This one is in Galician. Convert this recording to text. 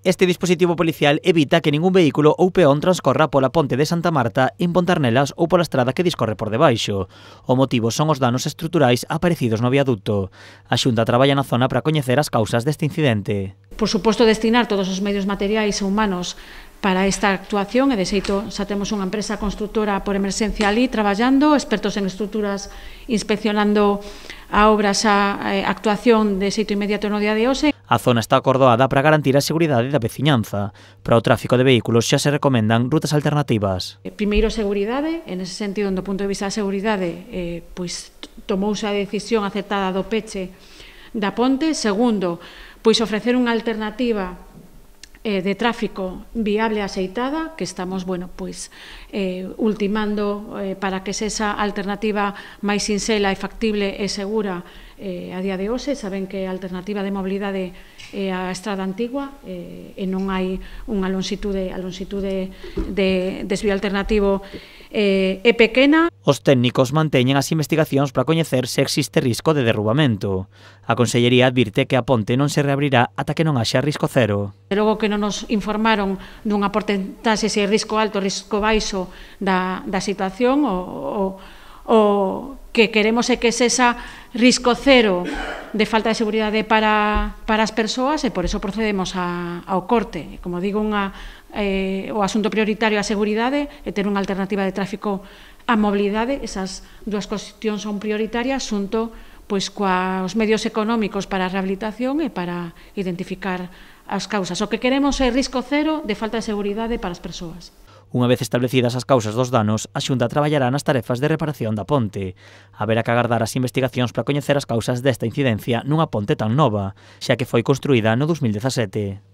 Este dispositivo policial evita que ningún vehículo ou peón transcorra pola ponte de Santa Marta, impontar nelas ou pola estrada que discorre por debaixo. O motivo son os danos estruturais aparecidos no viaducto. A Xunta traballa na zona para coñecer as causas deste incidente. Por suposto, destinar todos os medios materiais e humanos para esta actuación, e de xeito xa temos unha empresa constructora por emerxencia ali traballando, expertos en estruturas inspeccionando a obra xa actuación de xeito inmediato no día de hoxe. A zona está acordoada para garantir a seguridade da veciñanza. Para o tráfico de vehículos xa se recomendan rutas alternativas. Primeiro, seguridade, en ese sentido, do punto de vista da seguridade, pois tomouse a decisión acertada do peche da ponte. Segundo, pois ofrecer unha alternativa de tráfico viable e axeitada, que estamos, ultimando para que esa alternativa máis sinxela e factible e segura a día de hoxe. Saben que a alternativa de mobilidade é a estrada antigua e non hai unha longitude de desvío alternativo é pequena. Os técnicos manteñen as investigacións para coñecer se existe risco de derrubamento. A Consellería advirte que a ponte non se reabrirá ata que non haxa risco cero. De logo que non nos informaron dunha porcentaxe se é risco alto ou risco baixo da situación, o que queremos é que sexa risco cero de falta de seguridade para as persoas, e por eso procedemos ao corte. Como digo, o asunto prioritario é a seguridade e ter unha alternativa de tráfico a mobilidade. Esas dúas cuestións son prioritarias xunto coas medios económicos para a rehabilitación e para identificar as causas. O que queremos é risco cero de falta de seguridade para as persoas. Unha vez establecidas as causas dos danos, a Xunta traballará nas tarefas de reparación da ponte. Haberá que agardar as investigacións para coñecer as causas desta incidencia nunha ponte tan nova, xa que foi construída no 2017.